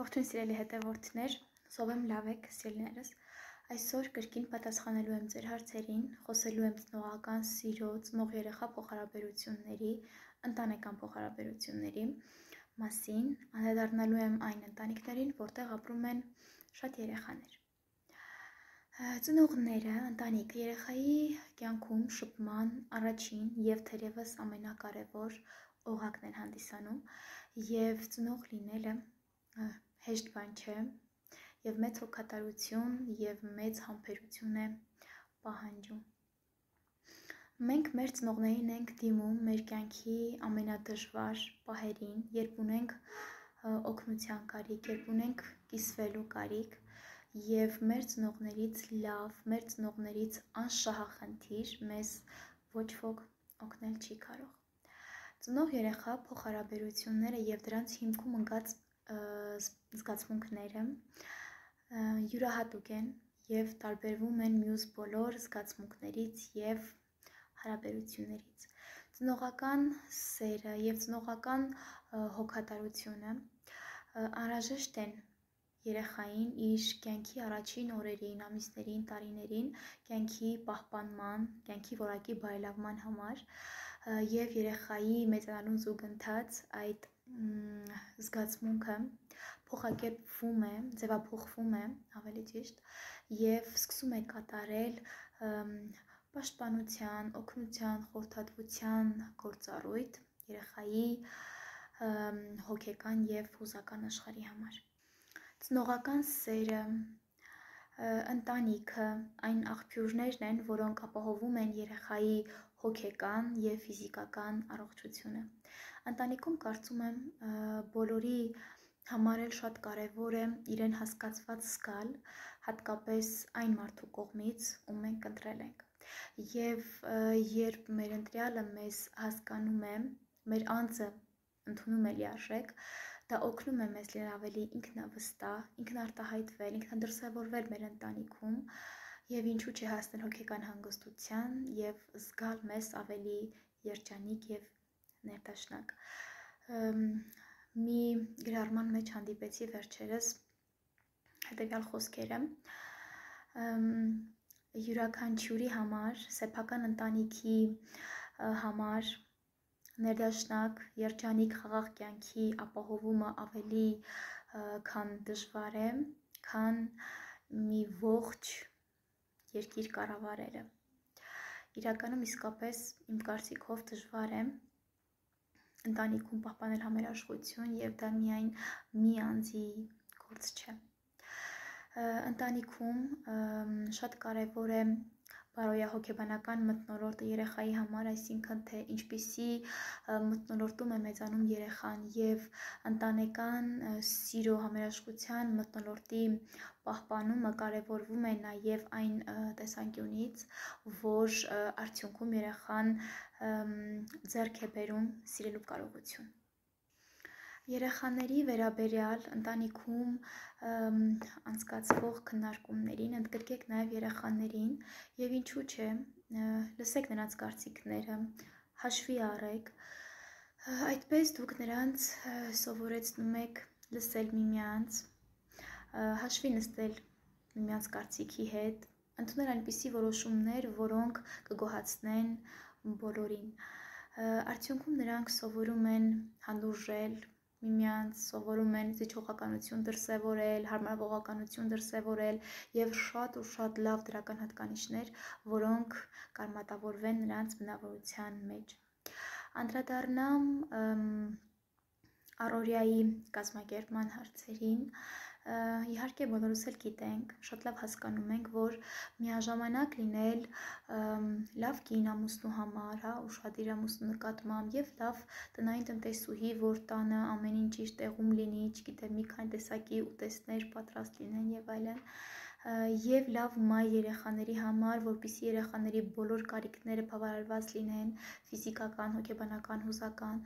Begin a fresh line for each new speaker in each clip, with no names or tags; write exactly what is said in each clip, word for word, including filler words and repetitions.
Ողջույն սիրելի հետևորդներ, հուսով եմ լավ եք, սիրելիներս։ Այսօր կրկին պատասխանելու եմ ձեր հարցերին, խոսելու եմ ծնողական սիրո, ծնող երեխա փոխհարաբերությունների, ընտանեկան փոխհարաբերությունների մասին, անդրադառնալու եմ այն ընտանիքներին, որտեղ ապրում են շատ երեխաներ։ Ծնողները, ընտանիքը երեխայի կյանքում շփման առաջին եւ թերևս ամենակարևոր օղակն են հանդիսանում, եւ ծնող լինելը հեշտ բան չէ եւ մեծ հոգատարություն եւ մեծ համբերություն է պահանջում։ Մենք մեր ծնողներին ենք դիմում մեր կյանքի ամենադժվար պահերին, երբ ունենք օգնության կարիք, երբ ունենք կիսվելու կարիք, եւ մեր ծնողներից լավ, մեր ծնողներից անշահախնդիր մեզ ոչ ոք օգնել չի կարող։ Ծնող երեխա փոխհարաբերությունները եւ դրանց հիմքում ընկած զգացմունքները յուրահատուկ են եւ տարբերվում են մյուս բոլոր զգացմունքներից եւ հարաբերություններից։ Ծնողական սերը եւ ծնողական հոգատարությունը անհրաժեշտ են երեխային իր կյանքի առաջին օրերին, ամիսներին, տարիներին, կյանքի պահպանման, կյանքի որակի բարելավման համար եւ երեխայի մեծանալուն զուգընթաց այդ զգացմունքը փոխակերպվում է, ձևափոխվում է, ավելի ճիշտ, եւ սկսում է կատարել պաշտպանության, օգնության, խորհրդատվության գործառույթ երեխայի հոգեկան եւ հուզական աշխարհի համար։ Ծնողական սերը, ընտանիքը այն աղբյուրներն են, որոնք ապահովում են երեխայի հոգեկան եւ ֆիզիկական առողջությունը։ Ընտանիքում կարծում եմ բոլորի համար էլ շատ կարևոր է իրեն հասկացված զգալ, հատկապես այն մարդու կողմից, ում մենք ընտրել ենք։ Եվ երբ մեր ընտրյալը մեզ հասկանում է, մեր անձը ընդունում է լիարժեք, դա օգնում է մեզ լինել ավելի ինքնավստահ, ինքնարտահայտվել, ինքնադրսևորվել մեր ընտանիքում եւ ինչու՞ չի հասնել հոգեկան հանգստության եւ զգալ մեզ ավելի երջանիկ եւ ներդաշնակ։ Մի գրառման մեջ հանդիպեցի վերջերս հետեւյալ խոսքերը. յուրաքանչյուրի համար, սեփական ընտանիքի համար ներդաշնակ, երջանիկ, խաղաղ կյանքի ապահովումը ավելի քան դժվար է, քան մի ողջ երկիր կառավարելը։ Իրականում իսկապես իմ կարծիքով դժվար է ընտանիքում պահպանել համերաշխություն եւ դա միայն մի անձի գործ չէ։ Ընտանիքում շատ կարևոր է բարոյահոգեբանական մթնոլորտը երեխայի համար, այսինքն թե ինչպիսի մթնոլորտում է մեծանում երեխան եւ ընտանեկան սիրո համերաշխության մթնոլորտի պահպանումը կարևորվում է նաեւ այն տեսանկյունից, որ արդյունքում երեխան ձեռք է բերում սիրելու կարողություն։ Երեխաների վերաբերյալ ընտանիքում անցկացվող քննարկումներին ընդգրկեք նաև երեխաներին եւ ինչու՞ չէ, լսեք նրանց կարծիքները, հաշվի առեք, այդպես դուք նրանց սովորեցնում եք լսել միմյանց, հաշվի նստել միմյանց կարծիքի հետ, ընդունել այնպիսի որոշումներ, որոնք կգոհացնեն բոլորին։ Արդյունքում նրանք սովորում են հանդուրժել միմյանց, սովորում են զիջողականություն դրսևորել, հարմարվողականություն դրսևորել եւ շատ ու շատ լավ դրական հատկանիշներ, որոնք կարմատավորվեն նրանց բնավորության մեջ։ Անդրադառնամ առօրյայի կազմակերպման հարցերին։ Իհարկե բոլորս էլ գիտենք, շատ լավ հասկանում ենք, որ միաժամանակ լինել լավ կին ամուսնու համար, հա, ուշադիր ամուսնու նկատմամբ եւ լավ տնային տնտեսուհի, որ տանը ամեն ինչ իր տեղում լինի, չգիտեմ, մի քանի տեսակի ուտեստներ պատրաստ լինեն եւ այլն, եւ լավ մայր երեխաների համար, որպեսզի երեխաների բոլոր կարիքները բավարարված լինեն, ֆիզիկական, հոգեբանական, հուզական,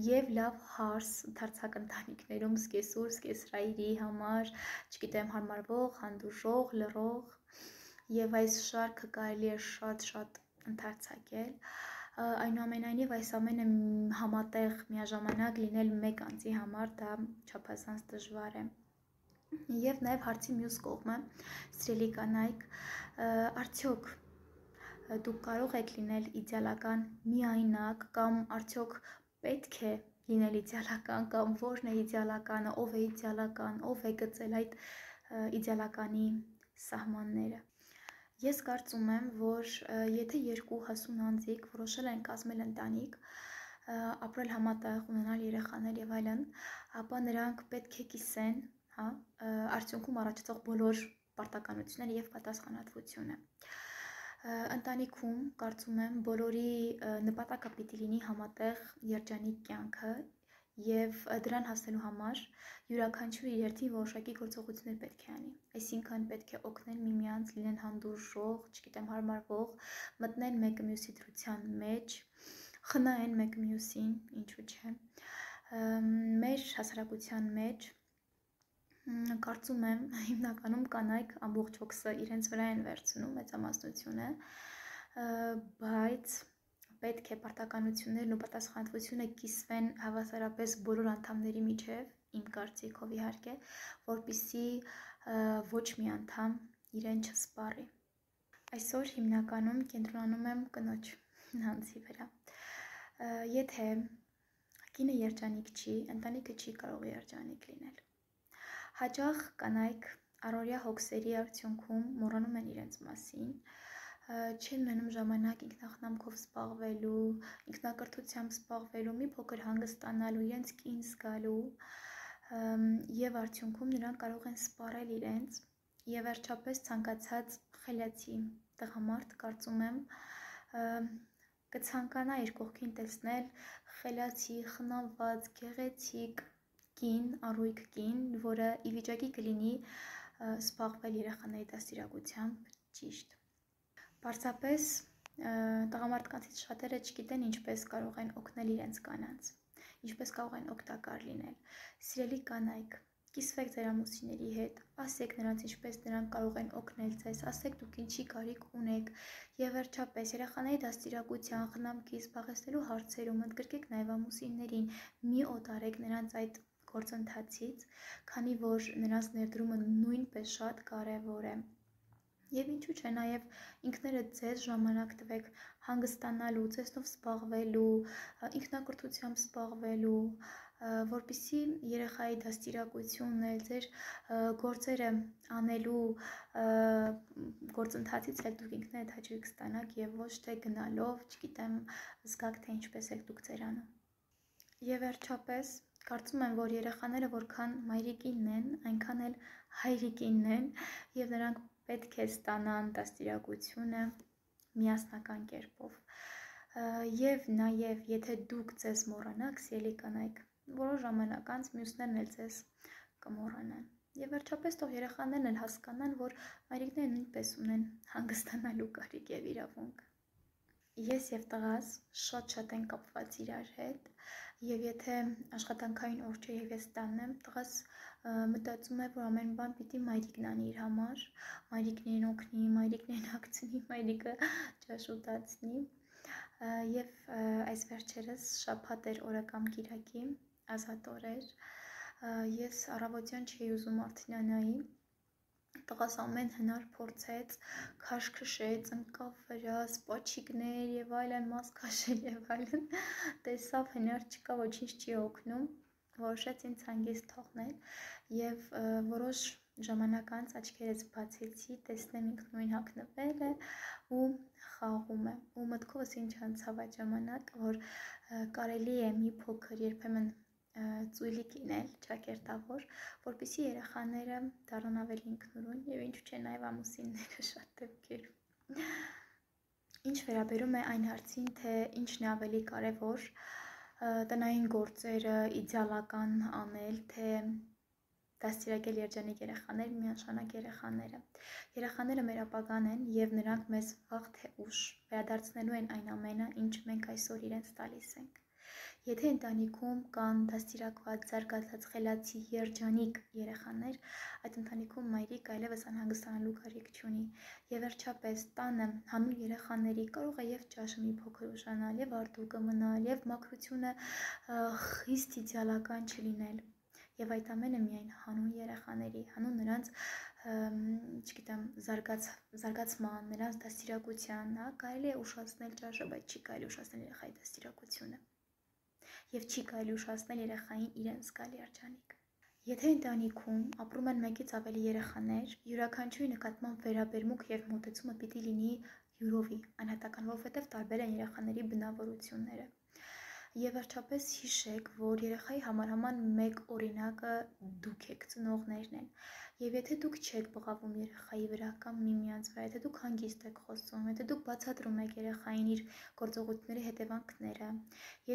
եւ լավ հարս ընդարձակ ընտանիքներում սկեսուր, սկեսրայրի համար, չգիտեմ, հարմարվող, հանդուրժող, լռող եւ այս շարքը կարելի է շատ-շատ ընդարձակել։ Այնուամենայնիվ այս ամենը համատեղ միաժամանակ լինել մեկ անձի համար դա չափազանց դժվար է։ Եվ նաև հարցի մյուս կողմը, սիրելի կանայք, արդյոք դուք կարող եք լինել իդեալական միայնակ, կամ արդյոք պետք է լինել իդեալական, կամ որն է իդեալականը, ով է իդեալական, ով է գծել այդ իդեալականի սահմանները։ Ես կարծում եմ, որ եթե երկու հասուն անձիկ որոշել են կազմել ընտանիք, ապրել համատեղ, ունենալ երեխաներ եւ այլն, ապա նրանք պետք է կիսեն, հա, արդյունքում առաջացող բոլոր պարտականությունները եւ պատասխանատվությունը։ Ընտանիքում կարծում եմ բոլորի նպատակը պիտի լինի համատեղ երջանիկ կյանքը եւ դրան հասնելու համար յուրաքանչյուրի երթին որոշակի գործողություններ պետք է անի։ Այսինքն պետք է օգնել միմյանց, լինեն հանդուրժող, չգիտեմ, հարմարվող, մտնեն մեկը մյուսի դրության մեջ, խնայեն մեկը մյուսին, ինչու՞ չէ։ Մեր հասարակության մեջ կարծում եմ հիմնականում կանայք ամբողջ հոգսը իրենց վրա են վերցնում մեծամասնությունը, բայց պետք է պարտականություններն ու պատասխանատվությունը կիսվեն հավասարապես բոլոր անդամների միջև, իմ կարծիքով իհարկե, որպեսզի ոչ մի անդամ իրեն չսպառի։ Այսօր հիմնականում կենտրոնանում եմ կնոջ անձի վրա։ Եթե կինը երջանիկ չի, ընտանիքը չի կարող երջանիկ լինել։ Հաճախ կանայք առօրյա հոգսերի արդյունքում մոռանում են իրենց մասին, չեն ունենում ժամանակ ինքնախնամքով զբաղվելու, ինքնակրթությամբ զբաղվելու, մի փոքր հանգստանալու, իրենց կին զգալու, եւ արդյունքում նրանք կարող են սպառել իրենց, եւ վերջապես ցանկացած խելացի տղամարդ, կարծում եմ, կցանկանա իր կողքին տեսնել խելացի, խնամված, գեղեցիկ կին, առույգ կին, որը ի վիճակի կլինի զբաղվել երեխաների դաստիարակությամբ ճիշտ։ Պարզապես տղամարդկանցից շատերը չգիտեն ինչպես կարող են օգնել իրենց կանանց, ինչպես կարող են օգտակար լինել։ Սիրելի կանայք, կիսվեք ձեր ամուսինների հետ, ասեք նրանց ինչպես նրանք կարող են օգնել ձեզ, ասեք դուք ինչի կարիք ունեք, եւ վերջապես երեխաների դաստիարակության, խնամքի, զբաղեցնելու հարցերում ընդգրկեք նաեւ ամուսիններին, մի օտարեք նրանց այդ գործընթացից, քանի որ նրանց ներդրումը նույնպես շատ կարևոր է։ Եվ ինչու՞ չէ, նաև ինքներդ ձեզ ժամանակ տվեք հանգստանալու, ձեզնով զբաղվելու, ինքնակրթությամբ զբաղվելու, որպեսզի երեխայի դաստիարակությունն էլ ձեր գործերը անելու գործընթացից էլ դուք ինքներդ հաճույք ստանաք եւ ոչ թե գնալով, չգիտեմ, զգաք թե ինչպես եք դուք ձեր անում։ Եվ վերջապես կարծում եմ, որ երեխաները որքան մայրիկինն են, այնքան էլ հայրիկինն են, եւ նրանք պետք է ստանան դաստիարակությունը միասնական կերպով։ Եվ նաեւ եթե դուք ձեզ մոռանաք, սիրելի կանայք, որոշ ժամանակ անց մյուսներն էլ ձեզ կմոռանան։ Եվ վերջապես թող երեխաներն էլ հասկանան, որ մայրիկները նույնպես ունեն հանգստանալու կարիք եւ իրավունք։ Ես եւ տղաս շատ-շատ են կապված իրար հետ, եւ եթե աշխատանքային օր չէ եւ ես տանն եմ, տղաս մտածում է, որ ամեն բան պիտի մայրիկն անի իր համար, մայրիկն իրեն օգնի, մայրիկն իրեն հագցնի, մայրիկը ճաշ ուտացնի։ Եվ այս վերջերս շաբաթ էր օրը կամ կիրակի, ազատ օր էր, ես առավոտյան չէի ուզում Արտինանայի, տղաս ամեն հնար փորձեց, քաշ քշեց, ընկավ վրա, սպաչիկներ եւ այլն, մաս քաշել եւ այլն, տեսավ հնար չկա, ոչինչ չի օգնում, որոշեց ինձ հանգիստ թողնել եւ որոշ ժամանակ անց աչքերս բացեցի, տեսնեմ ինքն նույն հագնվել է ու խաղում է, ու մտքովս ինչ անցավ այդ ժամանակ, որ կարելի է մի փոքր երբեմն ծույլիկ լինել, ճակերտավոր, որպեսզի երեխաները դառնան ավելի ինքնուրույն եւ ինչու՞ չէ նաեւ ամուսինները շատ դեպքերում։ Ինչ վերաբերում է այն հարցին, թե ինչն է ավելի կարևոր, տնային գործերը իդեալական անել, թե դաստիարակել երջանիկ երեխաներ, միանշանակ երեխաները։ Երեխաները մեր ապագան են եւ նրանք մեզ վաղ թե ուշ վերադարձնելու են այն ամենը, ինչ մենք այսօր իրենց տալիս ենք։ Եթե ընտանիքում կան դաստիարակված, զարգացած, խելացի, երջանիկ երեխաներ, այդ ընտանիքում մայրիկ այլևս անհանգստանալու կարիք չունի։ Եվ վերջապես տանը հանուն երեխաների կարող է եւ ճաշը մի փոքր ուշանալ, եւ արտուկը մնալ, եւ մաքրությունը խիստ իդեալական չլինել։ Եվ այդ ամենը միայն հանուն երեխաների երեխաների, հանուն նրանց չգիտեմ, զարգաց, զարգացման, նրանց դաստիարակության, հա, կարելի է ուշացնել ճաշը, բայց չի կարելի ուշացնել երեխայի դաստիարակությունը եւ չի կարելի ուշացնել երեխային իրեն զգալի արժանիք։ Եթե ընտանիքում ապրում են մեկից ավելի երեխաներ, յուրաքանչյուրի նկատմամբ վերաբերմունք եւ մոտեցումը պիտի լինի յուրովի, անհատական, որովհետեւ տարբեր են երեխաների բնավորությունները։ Եվ վերջապես հիշեք, որ երեխայի համար համար մեկ օրինակը դուք եք, ծնողներն են։ Եվ եթե դուք չեք բղավում երեխայի վրա կամ միմյանց վրա, եթե դուք հանգիստ եք խոսում, եթե դուք բացատրում եք երեխային իր գործողությունների հետևանքները,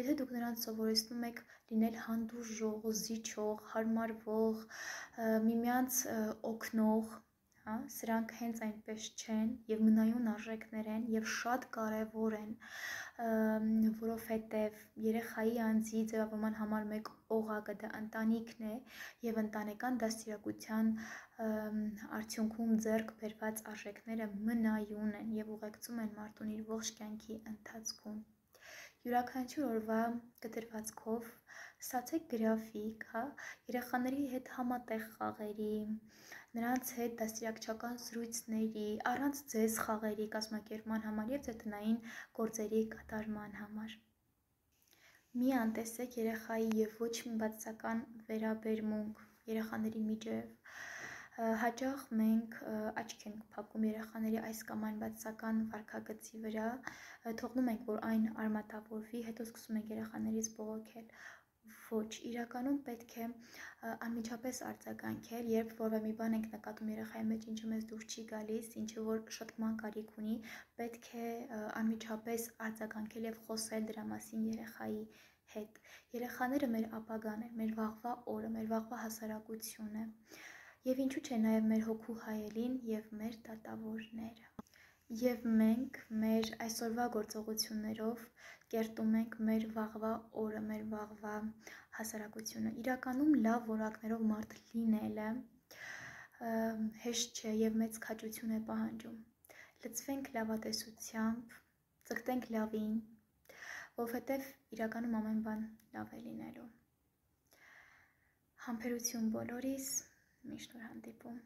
եթե դուք նրան սովորեցնում եք լինել հանդուրժող, զիջող, հարմարվող, միմյանց օգնող, հա, սրանք հենց այնպես չեն եւ մնայուն արժեքներ են եւ շատ կարեւոր են, որովհետեւ երեխայի անձի ձևավորման համար մեկ օղակը դա ընտանիքն է եւ ընտանեկան դաստիարակության արդյունքում ձեռք բերված արժեքները մնայուն են եւ ուղեկցում են մարդուն իր ողջ կյանքի ընթացքում։ Յուրաքանչյուր օրվա կտրվածքով ստացեք գրաֆիկ, հա, երեխաների հետ համատեղ խաղերի, նրանց հետ դաստիարակչական զրույցների, առանց ձեզ խաղերի կազմակերպման համար եւ ձեր տնային գործերի կատարման համար։ Մի անտեսեք երեխայի եւ ոչ մի բացասական վերաբերմունք երեխաների միջև։ Հաճախ մենք աչք ենք փակում երեխաների այս կամ այն բացասական վարքագծի վրա, թողնում ենք, որ այն արմատավորվի, հետո սկսում ենք երեխաներից բողոքել։ Ոչ, իրականում պետք է անմիջապես արձագանքել, երբ որևէ մի բան ենք նկատում երեխայի մեջ, ինչը մեզ դուր չի գալիս, ինչը որ շտկման կարիք ունի, պետք է անմիջապես արձագանքել եւ խոսել դրա մասին երեխայի հետ։ Երեխաները մեր ապագան են, մեր վաղվա օրը, մեր վաղվա հասարակությունը։ Եվ ինչու՞ չէ նաեւ մեր հոգու հայելին եւ մեր դատավորները։ Եվ մենք մեր այսօրվա գործողություններով կերտում ենք մեր վաղվա օրը, մեր վաղվա հասարակությունը։ Իրականում լավ որակներով մարդ լինելը հեշտ չէ եւ մեծ քաջություն է պահանջում։ Լծվենք լավատեսությամբ, ձգտենք լավին, որովհետեւ իրականում ամեն բան լավ է լինելու։ Համբերություն բոլորիս, միշտ նոր հանդիպում։